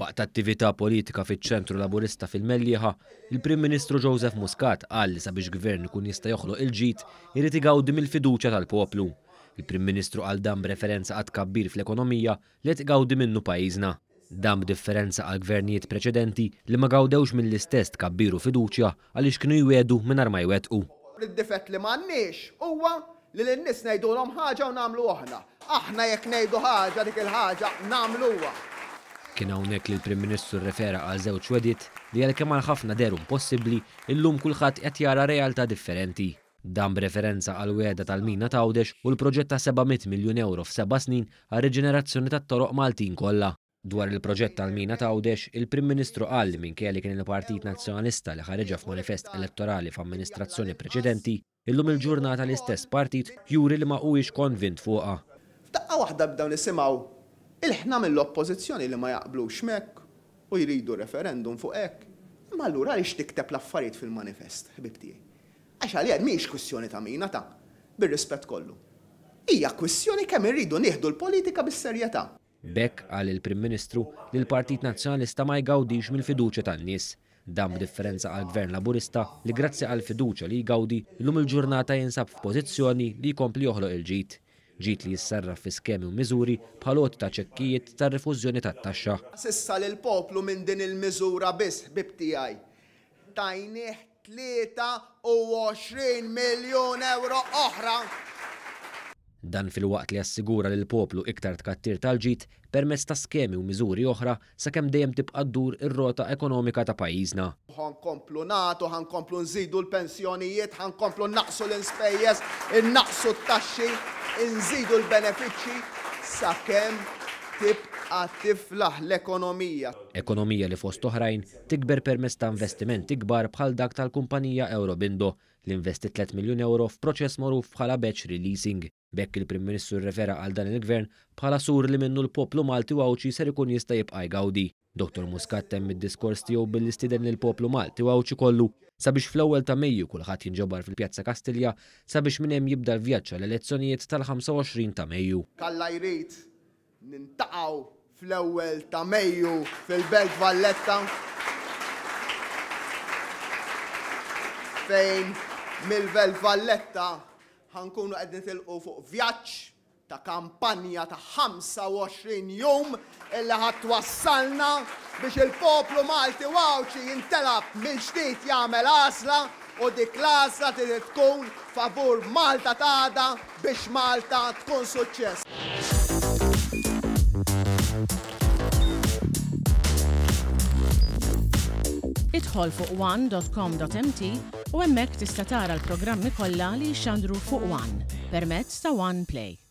Waqt attività politika fiċ-Ċentru Laburista fil-Mellieħa, il-Prim Ministru Joseph Muscat qal li sabiex Gvern ikun jista' joħloq il-ġid, irid igawdi mill-fiduċja tal-poplu. Il-Prim Ministru qal dan b'referenza għat-tkabbir fl-ekonomija li qed igawdi minnu pajjiżna. Dan b'differenza għal gvernijiet preċedenti li ma gawdewx mill-istess tkabbir u fiduċja għaliex kienu jwiegħdu mingħajr ma jwettqu. Id-difett li m'għandniex huwa li lin-nies ngħidulhom ħaġa u nagħmlu oħra. Aħna jekk ngħidu ħaġa dik il-ħaġa nagħmluha. Kien hawnhekk li l-Prim Ministru rrefera għal żewġ wegħdiet li għalkemm għal ħafna dehru impossibbli, illum kulħadd qed jara realtà differenti. Dan b'referenza għall-wegħda tal-mina t'Għawdex u l-proġett ta' 700 miljun ewro f'seba' snin għar-riġenerazzjoni tat-toroq Maltin kollha. Dwar il-proġett tal-mina t'Għawdex, il-Prim Ministru qal li minkejja li kien il-Partit Nazzjonalista li ħariġha f'manifest elettorali f'amministrazzjoni preċedenti, illum il-ġurnata l-istess partit juri li ma huwiex konvint fuqha. F'daqqa waħda bdew nisimgħu ilħna mill-Oppożizzjoni li ma jaqblux m'hekk u jridu referendum fuq hekk. Imma allura għaliex tikteb l-affarijiet fil-manifest, ħbieb tiegħi? Għax għalija mhijiex kwistjoni ta' mina ta', bir-rispett kollu. Hija kwistjoni kemm irridu nieħdu l-politika bis-serjetà. B'hekk, qal il-Prim Ministru, li l-Partit Nazzjonalista ma jgawdix mill-fiduċja tan-nies. Dan b'differenza għall-Gvern Laburista li grazzi għall-fiduċja li jgawdi, illum il-ġurnata jinsab f'pożizzjoni li jkompli joħloq il-ġid. Ġid li jissarraf fi skemi u miżuri bħal għoti ta' ċekkijiet tar-rifużjoni tat-taxxa. S'issa lill-poplu minn din il-miżura biss, ħbieb tiegħi, tajnieh 23 miljun ewro oħra. Dan filwaqt li assigura lill-poplu iktar tkattir tal-ġid permezz ta' skemi u miżuri oħra sakemm dejjem tibqa' ddur ir-rota ekonomika ta' pajjiżna. Ħa nkomplu nagħtu, ħa nkomplu nżidu l-pensjonijiet, ħa nkomplu nnaqqsu l-inspejjeż, innaqqsu t-taxxi, inżidu l-benefiċċji sakemm tibqa' tiflaħ l-ekonomija. Ekonomija li fost oħrajn tikber permezz ta' investimenti kbar bħal dak tal-kumpanija Eurobindo li investiet 3 miljun ewro f'proċess magħruf bħala batch releasing. B'hekk il-Prim Ministru rrefera għal dan il-Gvern bħala sur li minnu l-poplu Malti u Għawdxi ser ikun jista' jibqa' jgawdi. Dottor Muscat temm id-diskors tiegħu billi stieden lill-poplu Malti u Għawdxi kollu sabiex fl-ewwel ta' Mejju kulħadd jinġabar fil-Pjazza Kastilja sabiex minn hemm jibda l-vjaġġ għall-elezzjonijiet tal-25 ta' Mejju. K'Alla jrid, Nintaqgħu fl-ewwel ta' Mejju fil-Belt Valletta fejn mill-Belt Valletta ħa nkunu qed nitilqu fuq vjaġġ ta' kampanja ta' 25 jum illi ħa twassalna biex il-poplu Malti u Għawdxi jintelab mill-ġdid jagħmel għażla u dik l-għażla trid tkun favur Malta ta' għada biex Malta tkun suċċess. Idħol fuq one.com.mt u hemmhekk tista' tara l-programmi kollha li jixxandru fuq One permezz ta' One Play.